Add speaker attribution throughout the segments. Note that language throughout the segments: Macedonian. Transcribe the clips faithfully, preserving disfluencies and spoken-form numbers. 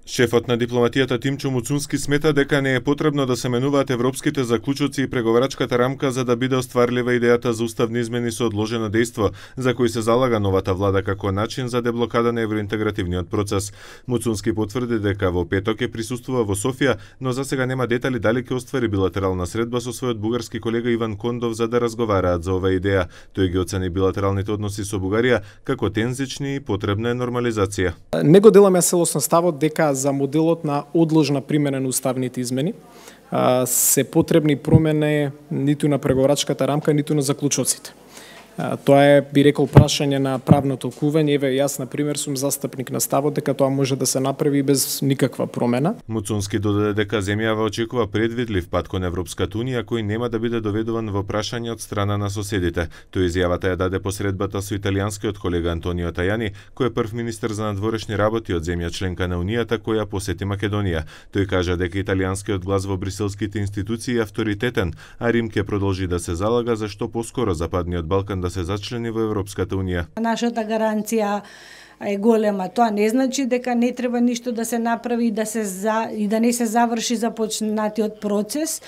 Speaker 1: Шефот на дипломатијата Тимчо Муцунски смета дека не е потребно да се менуваат европските заклучоци и преговарачката рамка за да биде остварлива идејата за уставни измени со одложено дејство, за кои се залага новата влада како начин за деблокада на евроинтегративниот процес. Муцунски потврди дека во петок ќе присуствува во Софија, но за сега нема детали дали ќе оствари билатерална средба со својот бугарски колега Иван Кондов за да разговараат за оваа идеја. Тој ги оцени билатералните односи со Бугарија како тензични и потребна е нормализација.
Speaker 2: Не го деламе целосно ставот дека за моделот на одложна примена на уставните измени се потребни промени ниту на преговарачката рамка, ниту на заклучоците. Тоа е, би рекол, прашање на правно толкување. Еве, јас, на пример, сум застапник на ставот дека тоа може да се направи без никаква промена.
Speaker 1: Муцунски додаде дека земјава очекува предвидлив пат кон Европската унија кој нема да биде доведуван во прашање од страна на соседите. Тој изјавата ја даде посредбата со италијанскиот колега Антонио Тајани, кој е прв министер за надворешни работи од земја членка на Унијата која посети Македонија. Тој кажа дека италијанскиот глас во бриселските институции е авторитетен, а Рим ќе продолжи да се залага за што поскоро Западниот Балкан да се зачлени во Европската унија.
Speaker 3: Нашата гаранција е голема. Тоа не значи дека не треба ништо да се направи и да се за и да не се заврши започнатиот процес.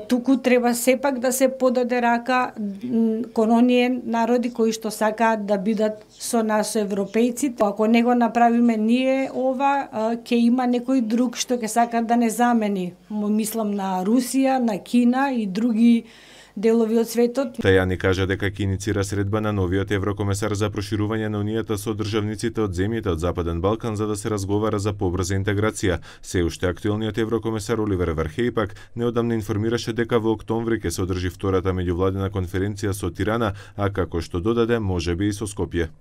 Speaker 3: Туку треба сепак да се подаде рака кон оние народи кои што сакаат да бидат со нас европејци. Ако не го направиме ние ова, ќе има некој друг што ќе сака да не замени. Мислам на Русија, на Кина и други делови од светот.
Speaker 1: Тајани кажа дека ќе иницира средба на новиот еврокомесар за проширување на унијата со државниците од земјите од Западен Балкан за да се разговара за побрза интеграција. Се уште актуелниот еврокомесар Оливер Вархеј пак неодамна информираше дека во октомври ќе се одржи втората меѓувладина конференција со Тирана, а како што додаде, можеби и со Скопје.